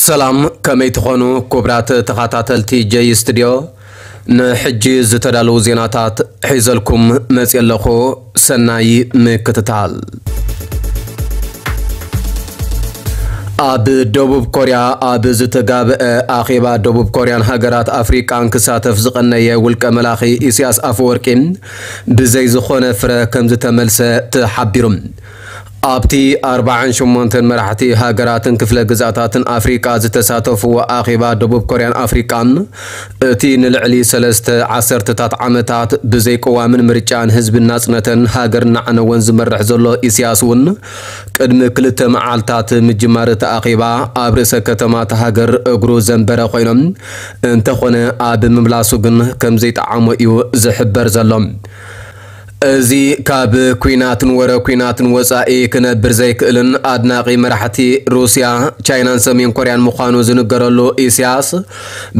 ሰላም፣ ከመይ ትኾኑ ክቡራት ተኸታተልቲ ጀይ ስቱድዮ? ንሕጂ ዝተዳለዉ ዜናታት ሒዘልኩም መፅየ ኣለኹ። ሰናይ ምክትታል። ኣብ ደቡብ ኮርያ ኣብ ዝተጋብአ ኣኼባ ደቡብ ኮርያን ሃገራት ኣፍሪቃን ክሳተፍ ዝቐነየ ውልቀ መላኺ ኢሳያስ ኣፈወርቂ ብዘይ ዝኾነ ፍረ ከም ዝተመልሰ ተሓቢሩ። ኣብቲ ኣርባዓን ሸሞንተን መራሕቲ ሃገራትን ክፍለ ግዝኣታትን ኣፍሪቃ ዝተሳተፍዎ ኣኼባ ደቡብ ኮርያን ኣፍሪቃን፣ እቲ ንልዕሊ ሰለስተ ዓሰርተታት ዓመታት ብዘይ ቅዋምን ምርጫን ህዝብን ናጽነተን ሃገር እናዓነወን ዝመርሕ ዘሎ ኢሳያስ እውን፣ ቅድሚ ክልተ መዓልታት ምጅማር እቲ ኣኼባ ኣብ ርእሰ ከተማ እታ ሃገር እግሩ ዘንበረ ኮይኖም፣ እንተኾነ ኣብ ምምላሱ ግን ከም ዘይጠዓሞ እዩ ዝሕበር ዘሎ። እዚ ካብ ኲናትን ወረ ኲናትን ወጻኢ ክነብር ዘይክእልን ኣድናቒ መራሕቲ ሩስያ፣ ቻይናን ሰሜን ኮርያን ምዃኑ ዝንገረሉ ኢሳያስ፣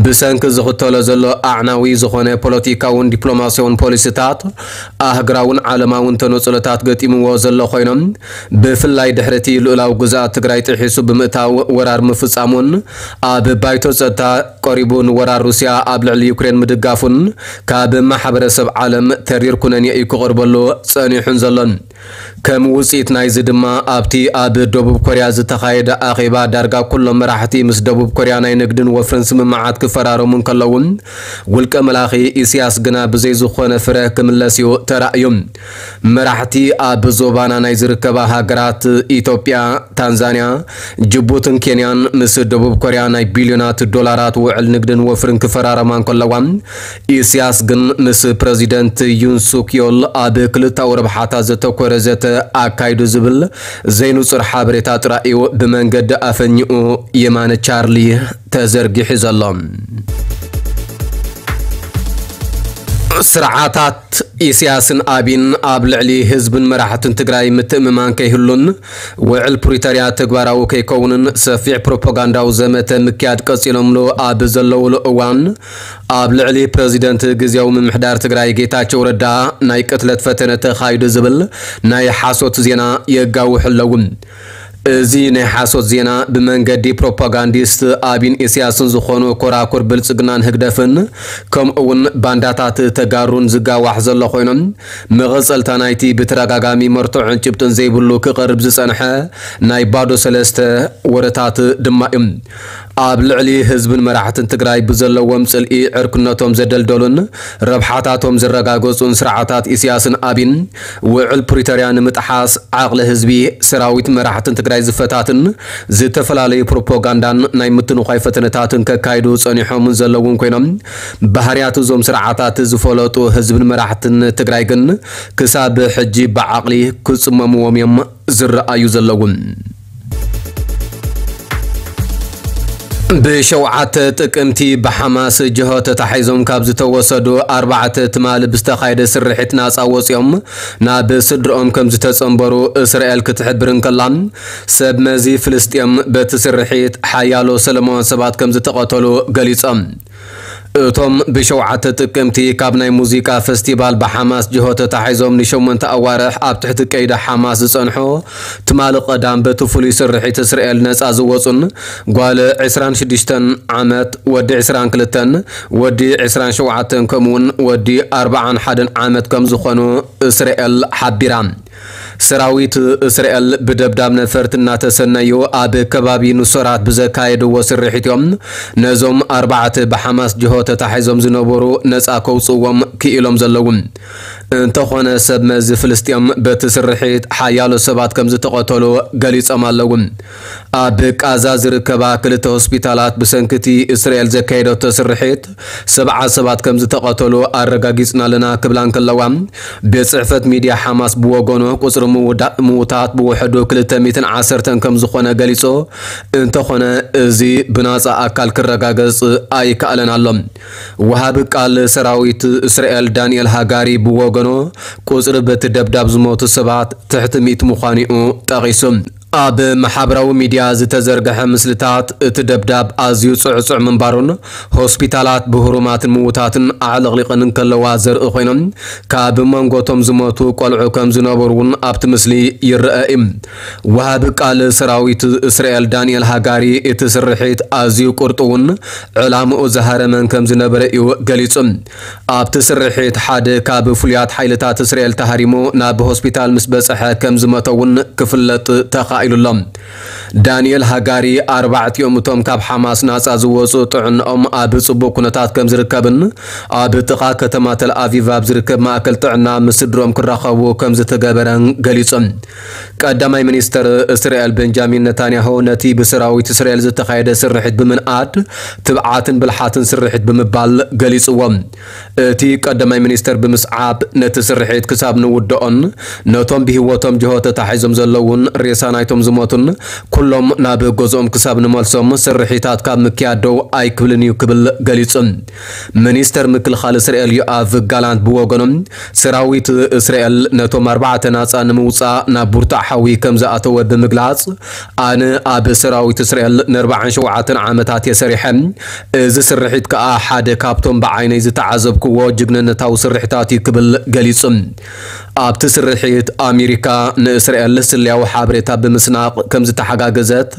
ብሰንኪ ዝኽተሎ ዘሎ ኣዕናዊ ዝኾነ ፖለቲካውን ዲፕሎማስያውን ፖሊሲታት፣ ኣህግራውን ዓለማውን ተነጽሎታት ገጢምዎ ዘሎ ኮይኖም፣ ብፍላይ ድሕሪ እቲ ልኡላዊ ግዝኣት ትግራይ ጥሒሱ ብምእታው ወራር ምፍጻሙን፣ ኣብ ባይቶ ጸጥታ ቀሪቡ ንወራር ሩስያ ኣብ ልዕሊ ዩክሬን ምድጋፉን፣ ካብ ማሕበረሰብ ዓለም ተሪር ኩነኔ እዩ ክቐርበሉ ጸኒሑን ዘሎን። ከም ውጽኢት ናይዚ ድማ፣ ኣብቲ ኣብ ደቡብ ኮርያ ዝተኻየደ ኣኼባ፣ ዳርጋ ኩሎም መራሕቲ ምስ ደቡብ ኮርያ ናይ ንግድን ወፍርን ስምምዓት ክፈራረሙ እንከለዉ፣ ውልቀ መላኺ ኢሳያስ ግና ብዘይ ዝኾነ ፍረ ክምለስ እዩ ተራእዩ። መራሕቲ ኣብ ዞባና ናይ ዝርከባ ሃገራት ኢትዮጵያ፣ ታንዛንያ፣ ጅቡትን ኬንያን ምስ ደቡብ ኮርያ ናይ ቢልዮናት ዶላራት ውዕል ንግድን ወፍርን ክፈራረማ እንከለዋ፣ ኢሳያስ ግን ምስ ፕረዚደንት ዩን ሱክ ዮል ኣብ ክልታዊ ረብሓታት ዘተኮረ ዘተ ኣካይዱ ዝብል ዘይንጹር ሓበሬታ ጥራይ እዩ ብመንገዲ ኣፈኛኡ የማነ ቻርሊ ተዘርጊሑ ዘሎ። ስርዓታት ኢሳያስን ኣቢን ኣብ ልዕሊ ህዝብን መራሕትን ትግራይ ምትእምማን ከይህሉን ውዕል ፕሪቶርያ ተግባራዊ ከይከውንን ሰፊሕ ፕሮፓጋንዳዊ ዘመተ ምክያድ ቀጺሎምሉ ኣብ ዘለውሉ እዋን፣ ኣብ ልዕሊ ፕረዚደንት ግዝያዊ ምምሕዳር ትግራይ ጌታቸው ረዳ ናይ ቅትለት ፈተነ ተኻይዱ ዝብል ናይ ሓሶት ዜና የጋውሑ ኣለዉ። እዚ ናይ ሓሶት ዜና ብመንገዲ ፕሮፓጋንዲስት ኣቢን ኢሳያስን ዝኾኑ ኮራኩር ብልጽግናን ህግደፍን፣ ከምኡ እውን ባንዳታት ተጋሩን ዝጋዋሕ ዘሎ ኮይኖም፣ መቐጸልታ ናይቲ ብተደጋጋሚ መርትዖን ጭብጥን ዘይብሉ ክቐርብ ዝጸንሐ ናይ ባዶ ሰለስተ ወረታት ድማ እዩ። ኣብ ልዕሊ ህዝብን መራሕትን ትግራይ ብዘለዎም ጽልኢ ዕርክነቶም ዘደልደሉን ረብሓታቶም ዘረጋገጹን ስርዓታት ኢሳያስን ኣቢን፣ ውዕል ፕሪቶርያ ንምጥሓስ ዓቕሊ ህዝቢ፣ ሰራዊት፣ መራሕትን ትግራይ ዝፈታትን ዝተፈላለዩ ፕሮፓጋንዳን ናይ ምትንዃይ ፈተነታትን ከካይዱ ጸኒሖምን ዘለውን ኮይኖም፣ ባህርያት እዞም ስርዓታት ዝፈለጡ ህዝብን መራሕትን ትግራይ ግን ክሳብ ሕጂ ብዓቕሊ ክጽመምዎም እዮም ዝረኣዩ ዘለዉ። ብሸውዓተ ጥቅምቲ ብሓማስ ጅሆ ተታሒዞም ካብ ዝተወሰዱ ኣርባዕተ ትማሊ ብዝተኻየደ ስርሒት ናጻ ወጺኦም ናብ ስድርኦም ከም ዝተጸንበሩ እስራኤል ክትሕብር እንከላ፣ ሰብ መዚ ፍልስጤም በቲ ስርሒት ሓያሎ ሰለማውያን ሰባት ከም ዝተቐተሉ ገሊጾም። እቶም ብሸውዓተ ጥቅምቲ ካብ ናይ ሙዚቃ ፈስቲቫል ብሓማስ ጅሆ ተታሒዞም ንሸሞንተ ኣዋርሕ ኣብ ትሕቲ ቀይዲ ሓማስ ዝጸንሑ፣ ትማሊ ቀዳም በቲ ፍሉይ ስርሒት እስራኤል ነጻ ዝወጹን ጓል ዕስራን ሽዱሽተን ዓመት፣ ወዲ ዕስራን ክልተን፣ ወዲ ዕስራን ሸውዓተን፣ ከምኡውን ወዲ ኣርባዓን ሓደን ዓመት ከም ዝኾኑ እስራኤል ሓቢራ። ሰራዊት እስራኤል ብደብዳብ ነፈርቲ እናተሰነዩ ኣብ ከባቢ ኑሶራት ብዘካየድዎ ስርሒት እዮም ነዞም ኣርባዕተ ብሓማስ ጅሆ ተታሒዞም ዝነበሩ ነጻ ከውጽእዎም ክኢሎም ዘለዉ። እንተኾነ ሰብ መዚ ፍልስጤም በቲ ስርሒት ሓያሎ ሰባት ከም ዝተቐተሉ ገሊጾም ኣለዉ። ኣብ ቃዛ ዝርከባ ክልተ ሆስፒታላት ብሰንኪ እቲ እስራኤል ዘካየደቶ ስርሒት ሰብዓ ሰባት ከም ዝተቐተሉ ኣረጋጊጽና ኣለና ክብላ እንከለዋ፣ ቤት ጽሕፈት ሚድያ ሓማስ ብወገኑ ቁጽሪ ምውዳ-፣ ምውታት ብውሕዱ ክልተ ሚእትን ዓሰርተን ከም ዝኾነ ገሊጹ። እንተኾነ እዚ ብናጻ ኣካል ክረጋገጽ ኣይከኣለን ኣሎ። ወሃቢ ቃል ሰራዊት እስራኤል ዳንኤል ሃጋሪ ብወገኑ ቁጽሪ በቲ ደብዳብ ዝሞቱ ሰባት ትሕቲ ሚእቲ ምዃኑ'ዩ ጠቒሱ። ኣብ ማሕበራዊ ሚድያ ዝተዘርግሐ ምስልታት እቲ ደብዳብ ኣዝዩ ጽዕጹዕ ምንባሩን ሆስፒታላት ብህሩማትን ምዉታትን ኣዕለቕሊቐን እንከለዋ ዘርኢ ኮይኖም፣ ካብ መንጎቶም ዝሞቱ ቆልዑ ከም ዝነበሩ እውን ኣብቲ ምስሊ ይረአ እዩ። ወሃቢ ቃል ሰራዊት እስራኤል ዳንኤል ሃጋሪ እቲ ስርሒት ኣዝዩ ቁርጡውን ዕላምኡ ዝሃረመን ከም ዝነበረ እዩ ገሊጹ። ኣብቲ ስርሒት ሓደ ካብ ፍሉያት ሓይልታት እስራኤል ተሃሪሙ ናብ ሆስፒታል ምስ በጽሐ ከም ዝመተ እውን ክፍለጥ ተኻኢሉ ኣሎ። ዳንኤል ሃጋሪ ኣርባዕቲኦም እቶም ካብ ሓማስ ናጻ ዝወጹ ጥዕንኦም ኣብ ጽቡቕ ኩነታት ከም ዝርከብን ኣብ ጥቓ ከተማ ተል ኣቪቭ ኣብ ዝርከብ ማእከል ጥዕና ምስ ስድሮም ክራኸቡ ከም ዝተገበረን ገሊጹ። ቀዳማይ ሚኒስተር እስራኤል ቤንጃሚን ነታንያሁ ነቲ ብሰራዊት እስራኤል ዝተኻየደ ስርሒት ብምንኣድ ትብዓትን ብልሓትን ስርሒት ብምባል ገሊጽዎ። እቲ ቀዳማይ ሚኒስተር ብምስዓብ ነቲ ስርሒት ክሳብ ንውድኦን ነቶም ብህይወቶም ጅሆ ተታሒዞም ዘለውን ሬሳ ናይቶም ዝሞቱን ኩሎም ናብ ገዝኦም ክሳብ ንመልሶም ስርሒታት ካብ ምክያድ ደው ኣይክብልን እዩ ክብል ገሊጹ። ሚኒስተር ምክልኻል እስራኤል ዮኣቭ ጋላንት ብወገኖም ሰራዊት እስራኤል ነቶም ኣርባዕተ ናጻ ንምውጻእ ናብ ቡርታዕ ሓዊ ከም ዝኣተወ ብምግላጽ፣ ኣነ ኣብ ሰራዊት እስራኤል ንኣርባዓን ሸውዓተን ዓመታት እየ ሰሪሐ። እዚ ስርሒት ከኣ ሓደ ካብቶም ብዓይነይ ዝተዓዘብክዎ ጅግንነታዊ ስርሒታት እዩ ክብል ገሊጹ። ኣብቲ ስርሒት ኣሜሪካ ንእስራኤል ስለያዊ ሓበሬታ ብምስናቕ ከም ዝተሓጋገዘት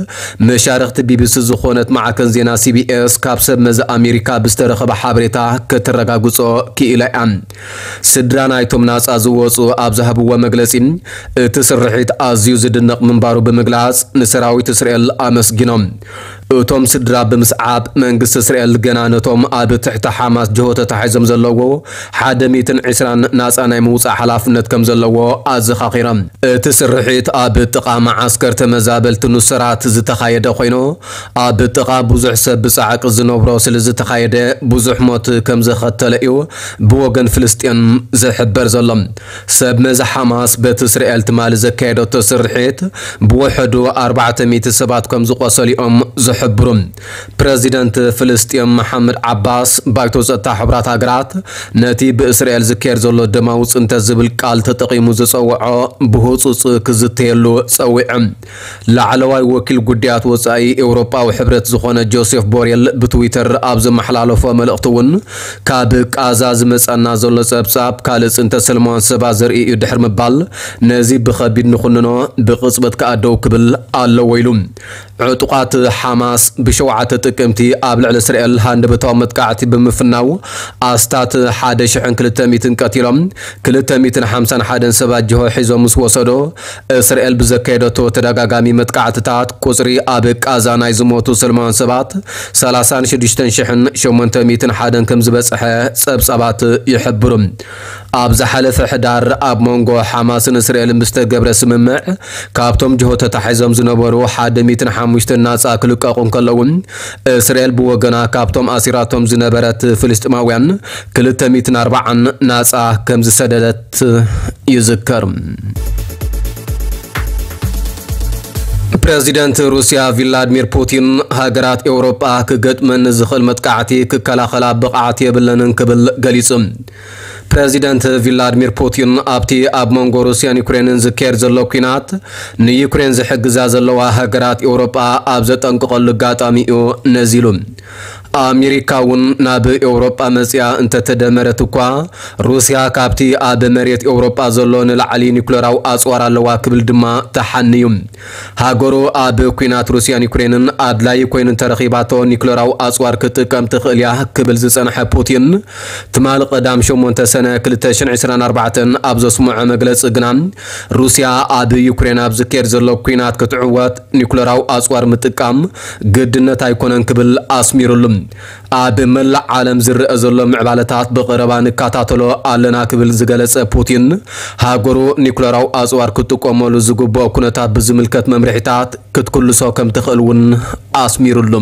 መሻርኽቲ ቢቢሲ ዝኾነት ማዕከን ዜና ሲቢኤስ ካብ ሰብ መዚ ኣሜሪካ ብዝተረኸበ ሓበሬታ ከተረጋግጾ ክኢላ እያ። ስድራ ናይቶም ናጻ ዝወጹ ኣብ ዝሃብዎ መግለጺ፣ እቲ ስርሒት ኣዝዩ ዝድነቕ ምንባሩ ብምግላጽ ንሰራዊት እስራኤል ኣመስጊኖም። እቶም ስድራ ብምስዓብ መንግስቲ እስራኤል ገና ነቶም ኣብ ትሕቲ ሓማስ ጅሆ ተታሒዞም ዘለዎ ሓደ ሚእትን ዕስራን ናጻ ናይ ምውጻእ ሓላፍነት ከም ዘለዎ ኣዘኻኺሮም። እቲ ስርሒት ኣብ ጥቓ መዓስከር ተመዛበልቲ ኑሰራት ዝተኻየደ ኮይኑ፣ ኣብ ጥቓ ብዙሕ ሰብ ብጻዕቂ ዝነብሮ ስለ ዝተኻየደ ብዙሕ ሞት ከም ዘኸተለ እዩ ብወገን ፍልስጤም ዝሕበር ዘሎ። ሰብ መዚ ሓማስ በቲ እስራኤል ትማሊ ዘካየደቶ ስርሒት ብውሕዱ ኣርባዕተ ሚእቲ ሰባት ከም ዝቖሰሉ እዮም ዝሕብሩ። ፕረዚደንት ፍልስጤም መሓመድ ዓባስ ባይቶ ጸጥታ ሕቡራት ሃገራት ነቲ ብእስራኤል ዝካየድ ዘሎ ደማዊ ጽንተት ዝብል ቃል ተጠቒሙ ዝጸውዖ ብህጹጽ ክዝተየሉ ጸዊዑ። ላዕለዋይ ወኪል ጉዳያት ወጻኢ ኤውሮጳዊ ሕብረት ዝኾነ ጆሴፍ ቦሬል ብትዊተር ኣብ ዘመሓላለፎ መልእኽቲ እውን፣ ካብ ቃዛ ዝመጸና ዘሎ ጸብጻብ ካልእ ጽንተት ሰለማውያን ሰባት ዘርኢ እዩ ድሕሪ ምባል፣ ነዚ ብኸቢድ ንኹንኖ፣ ብቕጽበት ከኣ ደው ክብል ኣለዎ ኢሉ። ዕጡቓት ሓማስ ብሸውዓተ ጥቅምቲ ኣብ ልዕሊ እስራኤል ሃንደበታዊ መጥቃዕቲ ብምፍናው ኣስታት ሓደ ሽሕን ክልተ ሚእትን ቀቲሎም፣ ክልተ ሚእትን ሓምሳን ሓደን ሰባት ጅሆ ሒዞም ምስ ወሰዶ፣ እስራኤል ብዘካየደቶ ተደጋጋሚ መጥቃዕትታት ቁጽሪ ኣብ ቃዛ ናይ ዝሞቱ ሰለማውያን ሰባት ሰላሳን ሽዱሽተን ሽሕን ሸሞንተ ሚእትን ሓደን ከም ዝበጽሐ ጸብጻባት ይሕብሩ። ኣብ ዝሓለፈ ሕዳር ኣብ መንጎ ሓማስን እስራኤልን ብዝተገብረ ስምምዕ ካብቶም ጅሆ ተታሒዞም ዝነበሩ ሓደ ሚእትን ሓሙሽተን ናጻ ክልቀቑ እንከለዉ፣ እስራኤል ብወገና ካብቶም ኣሲራቶም ዝነበረት ፍልስጥማውያን ክልተ ሚእትን ኣርባዓን ናጻ ከም ዝሰደደት ይዝከር። ፕረዚደንት ሩስያ ቪላድሚር ፑቲን ሃገራት ኤውሮጳ ክገጥመን ዝኽእል መጥቃዕቲ ክከላኸላ ብቕዓት የብለንን ክብል ገሊጹ። ፕረዚደንት ቪላድሚር ፑቲን ኣብቲ ኣብ መንጎ ሩስያን ዩክሬንን ዝካየድ ዘሎ ኲናት ንዩክሬን ዝሕግዛ ዘለዋ ሃገራት ኤውሮጳ ኣብ ዘጠንቅቐሉ ኣጋጣሚ እዩ ነዚ ኢሉ። ኣሜሪካ እውን ናብ ኤውሮጳ መጽያ እንተተደመረት እኳ፣ ሩስያ ካብቲ ኣብ መሬት ኤውሮጳ ዘሎ ንላዕሊ ኒኩለራዊ ኣጽዋር ኣለዋ ክብል ድማ ተሓንዩ። ሃገሩ ኣብ ኲናት ሩስያን ዩክሬንን ኣድላዪ ኮይኑ እንተረኺባቶ ኒኩለራዊ ኣጽዋር ክትጥቀም ትኽእል እያ ክብል ዝጸንሐ ፑቲን፣ ትማሊ ቀዳም ሸሞንተ ሰነ ክልተ ሽሕን ዕስራን ኣርባዕተን ኣብ ዘስምዖ መግለጺ ግና፣ ሩስያ ኣብ ዩክሬን ኣብ ዝካየድ ዘሎ ኲናት ክትዕወት ኒኩለራዊ ኣጽዋር ምጥቃም ግድነት ኣይኮነን ክብል ኣስሚሩሉ። ኣብ መላእ ዓለም ዝረአ ዘሎ ምዕባለታት ብቐረባ ንከታተሎ ኣለና ክብል ዝገለጸ ፑቲን፣ ሃገሩ ኒኩለራዊ ኣጽዋር ክትጥቀመሉ ዝግብኦ ኩነታት ብዝምልከት መምርሒታት ክትክልሶ ከም ትኽእል እውን ኣስሚሩሉ።